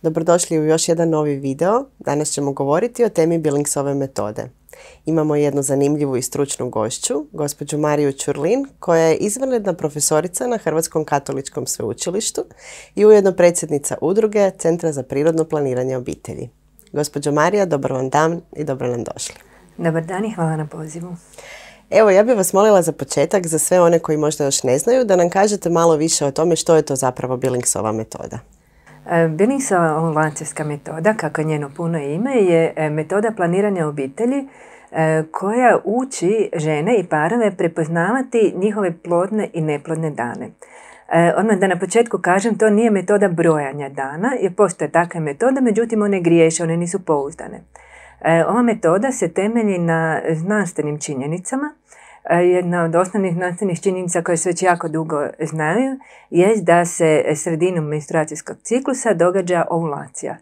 Dobrodošli u još jedan novi video. Danas ćemo govoriti o temi Billingsove metode. Imamo jednu zanimljivu i stručnu gošću, gospođu Mariju Ćurlin, koja je izvanredna profesorica na Hrvatskom katoličkom sveučilištu i ujedno predsjednica udruge Centra za prirodno planiranje obitelji. Gospođo Marija, dobar vam dan i dobro nam došli. Dobar dan i hvala na pozivu. Evo, ja bih vas molila za početak, za sve one koji možda još ne znaju, da nam kažete malo više o tome što je to zapravo Billingsova metoda. Billingsova ovulacijska metoda, kako je njeno puno ime, je metoda planiranja obitelji koja uči žene i parove prepoznavati njihove plodne i neplodne dane. Odmah da na početku kažem, to nije metoda brojanja dana, jer postoje takve metode, međutim one griješe, one nisu pouzdane. Ova metoda se temelji na znanstvenim činjenicama. Jedna od osnovnih znanstvenih činjenica koje se već jako dugo znaju je da se sredinom menstruacijskog ciklusa događa ovulacija.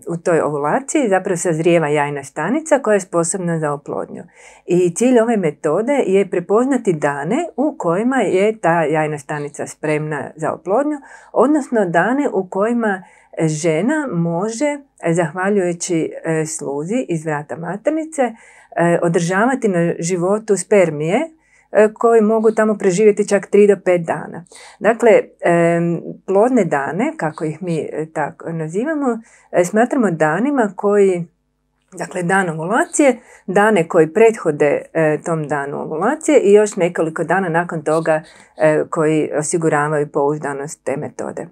U toj ovulaciji zapravo sazrijeva jajna stanica koja je sposobna za oplodnju. I cilj ove metode je prepoznati dane u kojima je ta jajna stanica spremna za oplodnju, odnosno dane u kojima žena može, zahvaljujući sluzi iz vrata maternice, održavati na životu spermije koji mogu tamo preživjeti čak 3 do 5 dana. Dakle, plodne dane, kako ih mi tako nazivamo, smatramo danima koji, dakle dan ovulacije, dane koji prethode tom danu ovulacije i još nekoliko dana nakon toga koji osiguravaju pouzdanost te metode.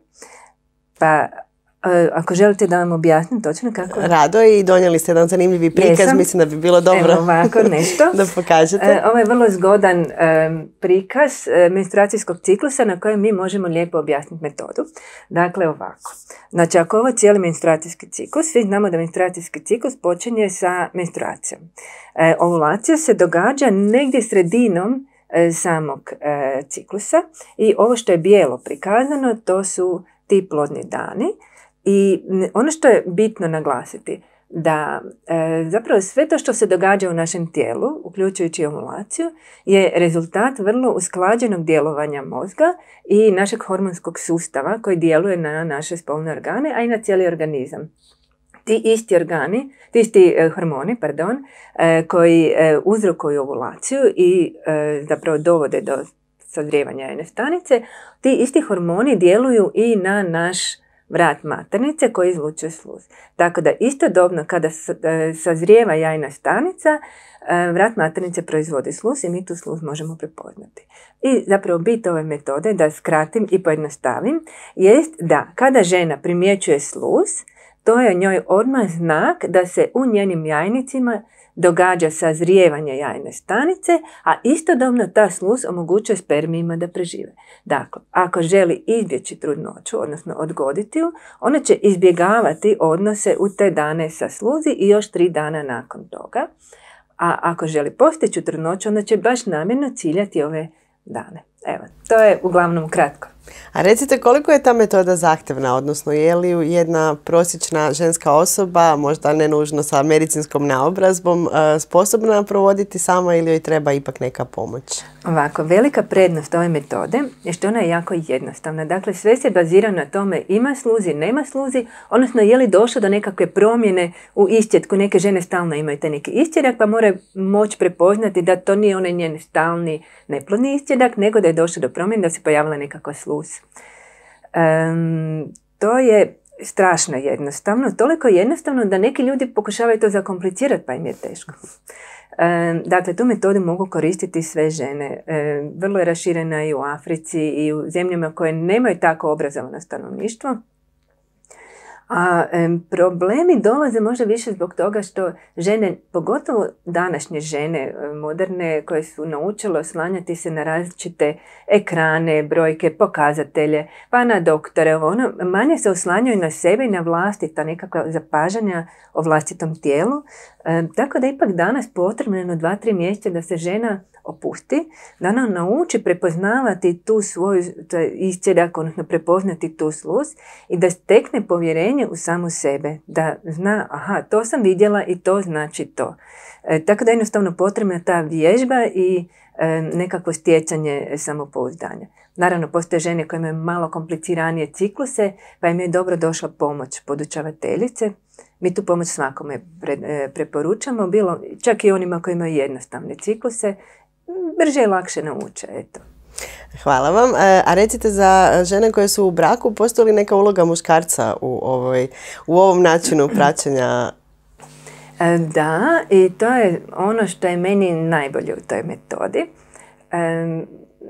Pa ako želite da vam objasnim točno kako... Rado, i donijeli ste jedan zanimljivi prikaz, mislim da bi bilo dobro. Evo ovako nešto. Da pokažete. Ovo je vrlo zgodan prikaz menstruacijskog ciklusa na kojem mi možemo lijepo objasniti metodu. Dakle ovako. Znači ako ovo je cijeli menstruacijski ciklus, svi znamo da menstruacijski ciklus počinje sa menstruacijom. Ovulacija se događa negdje sredinom samog ciklusa i ovo što je bijelo prikazano, to su ti plodni dani. I ono što je bitno naglasiti, da zapravo sve to što se događa u našem tijelu, uključujući ovulaciju, je rezultat vrlo usklađenog djelovanja mozga i našeg hormonskog sustava koji djeluje na naše spolne organe, a i na cijeli organizam. Ti isti hormoni, koji uzrokuju ovulaciju i zapravo dovode do sazrijevanja jajne stanice, ti isti hormoni djeluju i na naš vrat maternice koji izlučuje sluz. Tako da istodobno kada sazrijeva jajna stanica, vrat maternice proizvodi sluz i mi tu sluz možemo prepoznati. I zapravo bit ove metode, da skratim i pojednostavim, jest da kada žena primjećuje sluz, to je njoj odmah znak da se u njenim jajnicima događa sazrijevanje jajne stanice, a istodobno ta sluz omogućuje spermijima da prežive. Dakle, ako želi izbjeći trudnoću, odnosno odgoditi ju, ona će izbjegavati odnose u te dane sa sluzi i još 3 dana nakon toga. A ako želi postići trudnoću, onda će baš namjerno ciljati ove dane. Evo, to je uglavnom kratko. A recite, koliko je ta metoda zahtjevna, odnosno je li jedna prosječna ženska osoba, možda ne nužno sa medicinskom naobrazbom, sposobna provoditi sama ili joj treba ipak neka pomoć? Ovako, velika prednost ove metode je što ona je jako jednostavna. Dakle, sve se bazira na tome ima sluzi, nema sluzi, odnosno je li došlo do nekakve promjene u iscjetku. Neke žene stalno imaju taj neki iscjedak, pa moraju moći prepoznati da to nije onaj njen stalni neplodni iscjedak, nego da je došlo do promjene, da se pojavila nekakva sluz. To je strašno jednostavno, toliko jednostavno da neki ljudi pokušavaju to zakomplicirati pa im je teško. Dakle, tu metodu mogu koristiti sve žene. Vrlo je raširena i u Africi i u zemljama koje nemaju tako obrazovano stanovništvo. A problemi dolaze možda više zbog toga što žene, pogotovo današnje žene moderne, koje su naučile oslanjati se na različite ekrane, brojke, pokazatelje, pa na doktore, manje se oslanjaju na sebe i na vlastita nekakva zapažanja o vlastitom tijelu. Tako da ipak danas potrebno 2-3 mjeseca da se žena opusti, da ona nauči prepoznavati tu svoju isčedak, odnosno prepoznati tu sluz i da stekne povjerenje u samu sebe, da zna, aha, to sam vidjela i to znači to. Tako da je jednostavno potrebna ta vježba i nekakvo stjecanje samopouzdanja. Naravno, postoje žene koje imaju malo kompliciranije cikluse, pa im je dobro došla pomoć podučavateljice. Mi tu pomoć svakome preporučamo, bilo čak i onima koji imaju jednostavne cikluse, brže i lakše nauče. Eto. Hvala vam. A recite, za žene koje su u braku, postoji li neka uloga muškarca u ovom načinu praćenja? Da, i to je ono što je meni najbolje u toj metodi.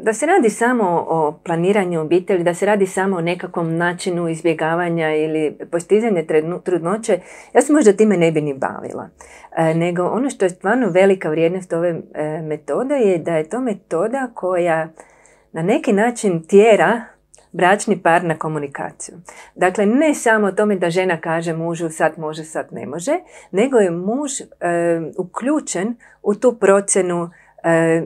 Da se radi samo o planiranju obitelji, da se radi samo o nekakvom načinu izbjegavanja ili postizanja trudnoće, ja se možda time ne bi ni bavila. Nego ono što je stvarno velika vrijednost ove metode je da je to metoda koja na neki način tjera bračni par na komunikaciju. Dakle, ne samo o tome da žena kaže mužu sad može, sad ne može, nego je muž uključen u tu procjenu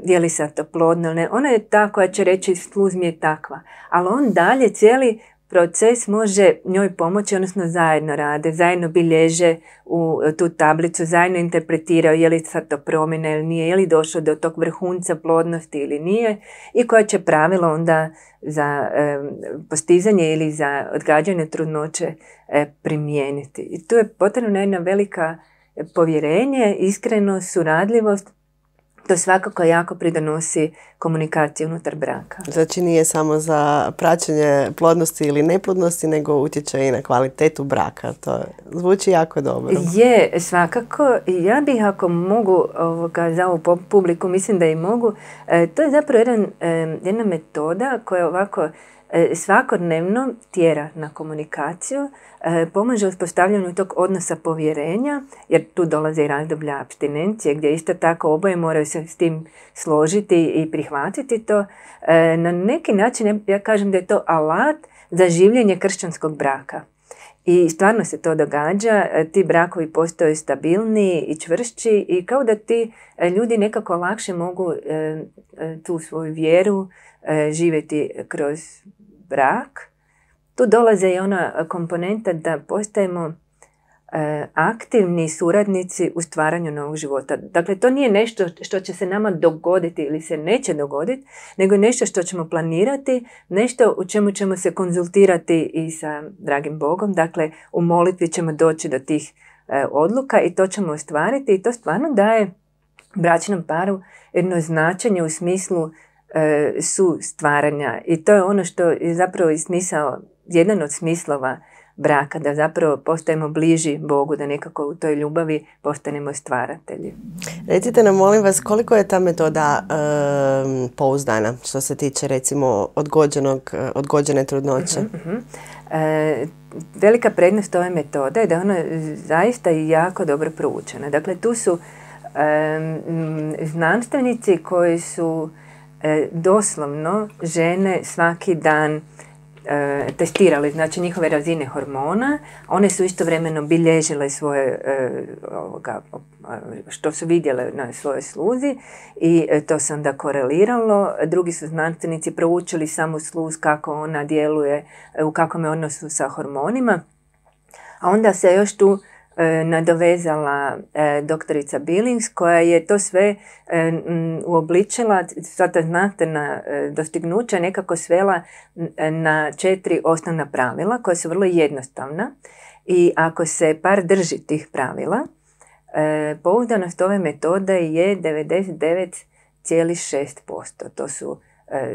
je li sad to plodno, ne. Ona je ta koja će reći sluz mi je takva, ali on dalje cijeli proces može njoj pomoći, odnosno zajedno rade, zajedno bilježe u tu tablicu, zajedno interpretiraju je li sad to promjena ili nije, je li došlo do tog vrhunca plodnosti ili nije i koja će pravilo onda za postizanje ili za odgađanje trudnoće primijeniti. I tu je potrebna jedna velika povjerenje, iskrenost, suradljivost. To svakako jako pridonosi komunikaciji unutar braka. Znači nije samo za praćenje plodnosti ili neplodnosti, nego utječe i na kvalitetu braka. To zvuči jako dobro. Je, svakako. Ja bih, ako mogu za ovu publiku, mislim da i mogu, to je zapravo jedna metoda koja ovako svakodnevno tjera na komunikaciju, pomaže uspostavljanju tog odnosa povjerenja, jer tu dolaze i razdoblja apstinencije gdje isto tako oboje moraju se s tim složiti i prihvatiti to. Na neki način ja kažem da je to alat za življenje kršćanskog braka. I stvarno se to događa, ti brakovi postaju stabilniji i čvršći i kao da ti ljudi nekako lakše mogu tu svoju vjeru živjeti kroz brak. Tu dolaze i ona komponenta da postajemo aktivni suradnici u stvaranju novog života. Dakle, to nije nešto što će se nama dogoditi ili se neće dogoditi, nego nešto što ćemo planirati, nešto u čemu ćemo se konzultirati i sa dragim Bogom. Dakle, u molitvi ćemo doći do tih odluka i to ćemo ostvariti i to stvarno daje bračnom paru jedno značenje u smislu su stvaranja i to je ono što je zapravo i smisao, jedan od smislova braka, da zapravo postajemo bliži Bogu, da nekako u toj ljubavi postanemo stvaratelji. Recite nam, molim vas, koliko je ta metoda pouzdana što se tiče recimo odgođene trudnoće? Velika prednost ove metode je da ona zaista jako dobro proučena. Dakle, tu su znanstvenici koji su doslovno žene svaki dan testirali, znači njihove razine hormona. One su istovremeno bilježile svoje što su vidjele na svojoj sluzi i to se onda koreliralo. Drugi su znanstvenici proučili samu sluz, kako ona djeluje, u kakvom je odnosu sa hormonima. A onda se još tu nadovezala doktorica Billings koja je to sve uobličila, sva ta znanstvena dostignuća nekako svela na 4 osnovna pravila koja su vrlo jednostavna i ako se par drži tih pravila, pouzdanost ove metode je 99,6%. To su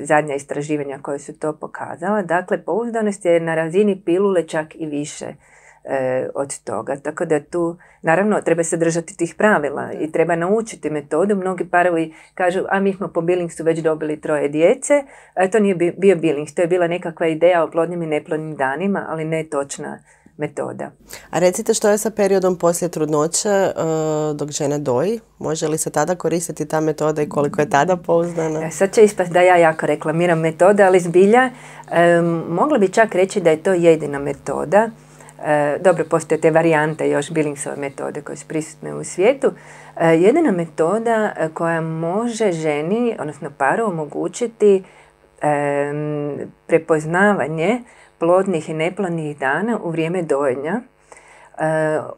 zadnja istraživanja koje su to pokazala. Dakle, pouzdanost je na razini pilule čak i više od toga. Tako da tu, naravno, treba se držati tih pravila i treba naučiti metodu. Mnogi parovi kažu, a mi smo po Billingsu već dobili 3 djece. To nije bio Billings, to je bila nekakva ideja o plodnim i neplodnim danima, ali ne točna metoda. A recite, što je sa periodom poslije trudnoće dok žena doji? Može li se tada koristiti ta metoda i koliko je tada pouzdana? Sad će ispast da ja jako reklamiram metode, ali zbilja mogla bi čak reći da je to jedina metoda dobro, postoje te varijante još Billingsove metode koje su prisutne u svijetu. Jedina metoda koja može ženi, odnosno paru, omogućiti prepoznavanje plodnih i neplodnih dana u vrijeme dojenja,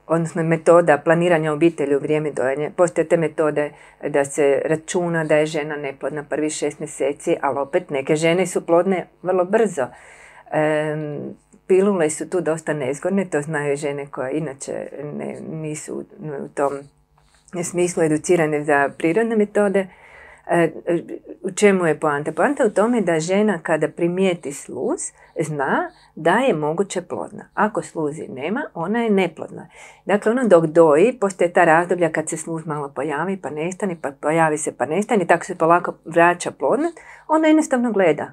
odnosno metoda planiranja obitelji u vrijeme dojenja. Postoje te metode da se računa da je žena neplodna prvih 6 mjeseci, ali opet neke žene su plodne vrlo brzo. Pilule su tu dosta nezgodne, to znaju žene koje inače nisu u tom smislu educirane za prirodne metode. U čemu je poanta? Poanta je u tome da žena kada primijeti sluz zna da je moguće plodna. Ako sluzi nema, ona je neplodna. Dakle, ona dok doji, postoje ta razdoblja kad se sluz malo pojavi pa nestane, pa pojavi se pa nestane, tako se polako vraća plodnost, ona jednostavno gleda.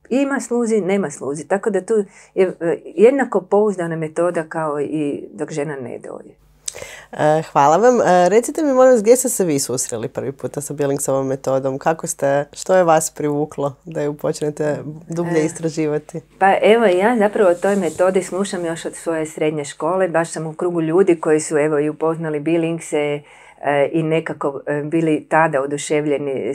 Ima sluzi, nema sluzi. Tako da tu je jednako pouzdana metoda kao i dok žena ne doji. Hvala vam. Recite mi, molim vas, gdje ste se vi susreli prvi puta sa Billingsovom metodom? Što je vas privuklo da ju počnete dublje istraživati? Pa evo, ja zapravo o toj metodi slušam još od svoje srednje škole. Baš sam u krugu ljudi koji su evo i upoznali Billingse i nekako bili tada oduševljeni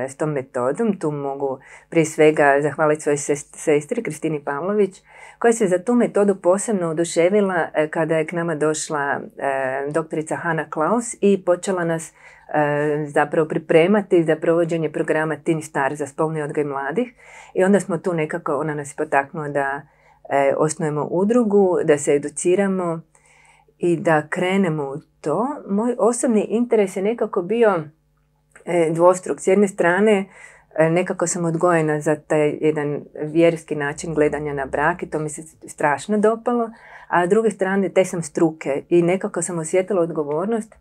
s tom metodom. Tu mogu prije svega zahvaliti svojoj sestri Kristini Pavlović, koja se za tu metodu posebno oduševila kada je k nama došla doktorica Hanna Klaus i počela nas zapravo pripremati za provođenje programa Teen Star za spolni odgoj mladih. I onda smo tu nekako, ona nas potaknula da osnujemo udrugu, da se educiramo i da krenemo u to. Moj osobni interes je nekako bio dvostruk. S jedne strane, nekako sam odgojena za taj jedan vjerski način gledanja na brak i to mi se strašno dopalo, a s druge strane te sam struke i nekako sam osjetila odgovornost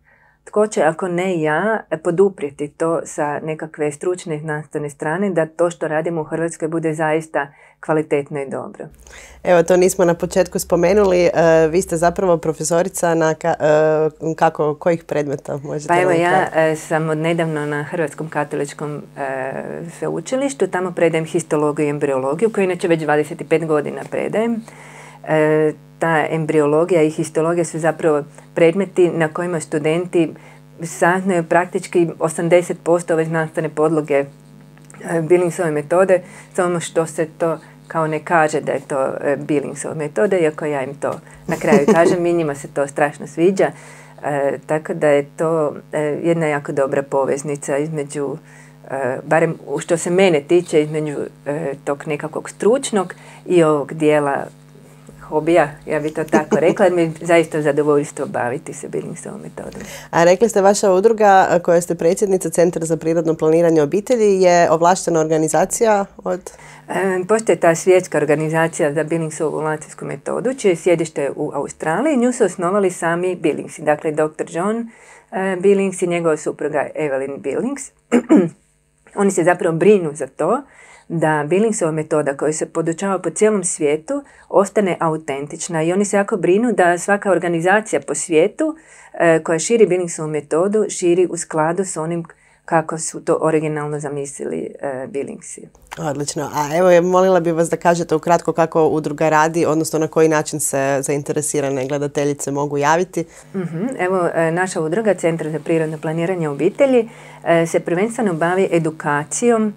tko će, ako ne ja, poduprijeti to sa nekakve stručne i znanstvene strane, da to što radimo u Hrvatskoj bude zaista kvalitetno i dobro. Evo, to nismo na početku spomenuli. Vi ste zapravo profesorica na kojih predmeta možete? Pa evo, ja sam odnedavno na Hrvatskom katoličkom sveučilištu. Tamo predajem histologiju i embriologiju, koju inače već 25 godina predajem. Ta embriologija i histologija su zapravo predmeti na kojima studenti saznaju praktički 80% ove znanstvene podloge Billingsove metode, samo što se to kao ne kaže da je to Billingsova metoda, iako ja im to na kraju kažem, i njima se to strašno sviđa. Tako da je to jedna jako dobra poveznica između, barem što se mene tiče, između tog nekakvog stručnog i ovog dijela hobija, ja bi to tako rekla, jer mi je zaista zadovoljstvo baviti se Billingsovom metodom. A rekli ste, vaša udruga koja ste predsjednica Centra za prirodno planiranje obitelji je ovlaštena organizacija od? Postoje ta svjetska organizacija za Billingsovu ovulacijsku metodu, čije sjedište u Australiji. Nju su osnovali sami Billingsi, dakle dr. John Billings i njegova supruga Evelyn Billings. Oni se zapravo brinu za to da Billingsova metoda koja se podučava po cijelom svijetu ostane autentična i oni se jako brinu da svaka organizacija po svijetu koja širi Billingsovu metodu širi u skladu s onim kako su to originalno zamislili Billingsi. Odlično. A evo, molila bih vas da kažete ukratko kako udruga radi, odnosno na koji način se zainteresirane gledateljice mogu javiti. Evo, naša udruga Centar za prirodno planiranje obitelji se prvenstveno bavi edukacijom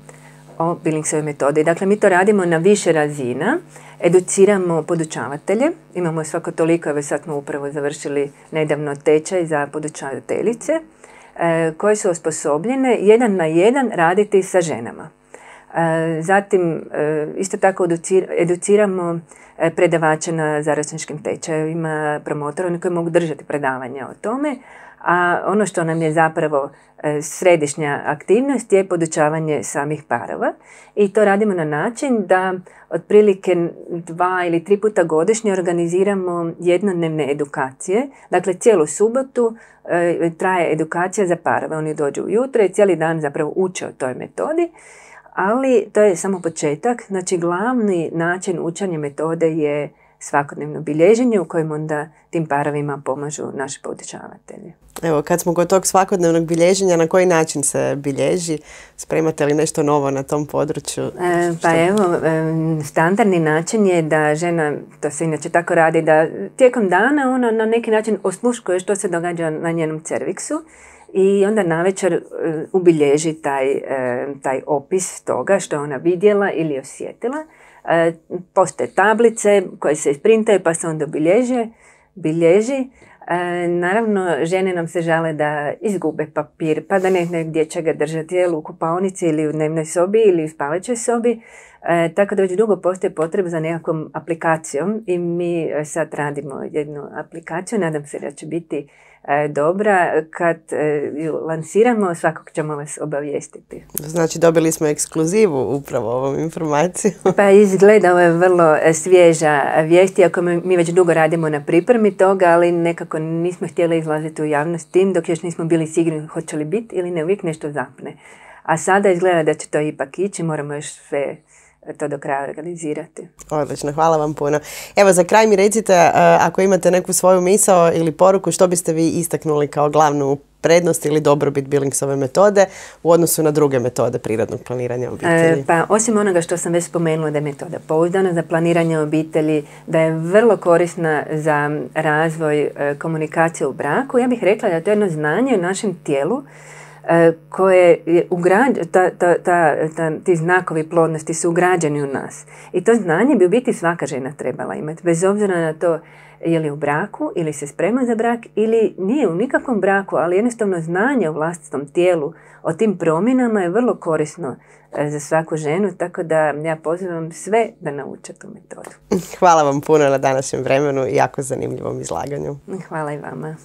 o Billingsovoj metodi. Dakle, mi to radimo na više razina. Educiramo podučavatelje. Imamo svako toliko, evo sad smo upravo završili nedavno tečaj za podučavateljice koje su osposobljene 1 na 1 raditi sa ženama. Zatim, isto tako educiramo predavače na zaračunčkim tečajevima, promotora, oni koji mogu držati predavanja o tome. A ono što nam je zapravo središnja aktivnost je podučavanje samih parova i to radimo na način da otprilike 2 ili 3 puta godišnje organiziramo jednodnevne edukacije. Dakle, cijelu subotu traje edukacija za parove. Oni dođu ujutro i cijeli dan zapravo uče o toj metodi, ali to je samo početak. Znači, glavni način učenja metode je svakodnevno bilježenje u kojem onda tim parovima pomažu naši poučavatelji. Evo, kad smo kod tog svakodnevnog bilježenja, na koji način se bilježi? Spremate li nešto novo na tom području? Standardni način je da žena, to se inače tako radi, da tijekom dana ona na neki način osluškuje što se događa na njenom cerviksu i onda navečer ubilježi taj opis toga što ona vidjela ili osjetila. Postoje tablice koje se isprintaju pa se onda bilježi. Naravno, žene nam se žale da izgube papir, pa da ne znaju gdje će ga držati, jel u kupaonici ili u dnevnoj sobi ili u spavaćoj sobi. Tako da već dugo postoji potreba za nekakvom aplikacijom i mi sad radimo jednu aplikaciju, nadam se da će biti dobra. Kad ju lansiramo, svakog ćemo vas obavijestiti. Znači, dobili smo ekskluzivu upravo ovom informacijom. Pa izgleda, ovo je vrlo svježa vijest, iako mi već dugo radimo na pripremi toga, ali nekako nismo htjeli izlaziti u javnost tim dok još nismo bili sigurni hoće li biti ili ne, uvijek nešto zapne. A sada izgleda da će to ipak ići, moramo još sve to do kraja organizirati. Odlično, hvala vam puno. Evo, za kraj mi recite, ako imate neku svoju misao ili poruku, što biste vi istaknuli kao glavnu prednost ili dobrobit Billingsove metode u odnosu na druge metode prirodnog planiranja obitelji? Pa osim onoga što sam već spomenula, da je metoda pouzdana za planiranje obitelji, da je vrlo korisna za razvoj komunikacije u braku, ja bih rekla da je to jedno znanje u našem tijelu koje je ti znakovi plodnosti su ugrađeni u nas. I to znanje bi u biti svaka žena trebala imati, bez obzira na to je li u braku ili se sprema za brak ili nije u nikakvom braku, ali jednostavno znanje o vlastitom tijelu, o tim promjenama je vrlo korisno za svaku ženu, tako da ja pozivam sve da nauče tu metodu. Hvala vam puno na današnjem vremenu i jako zanimljivom izlaganju. Hvala i vama.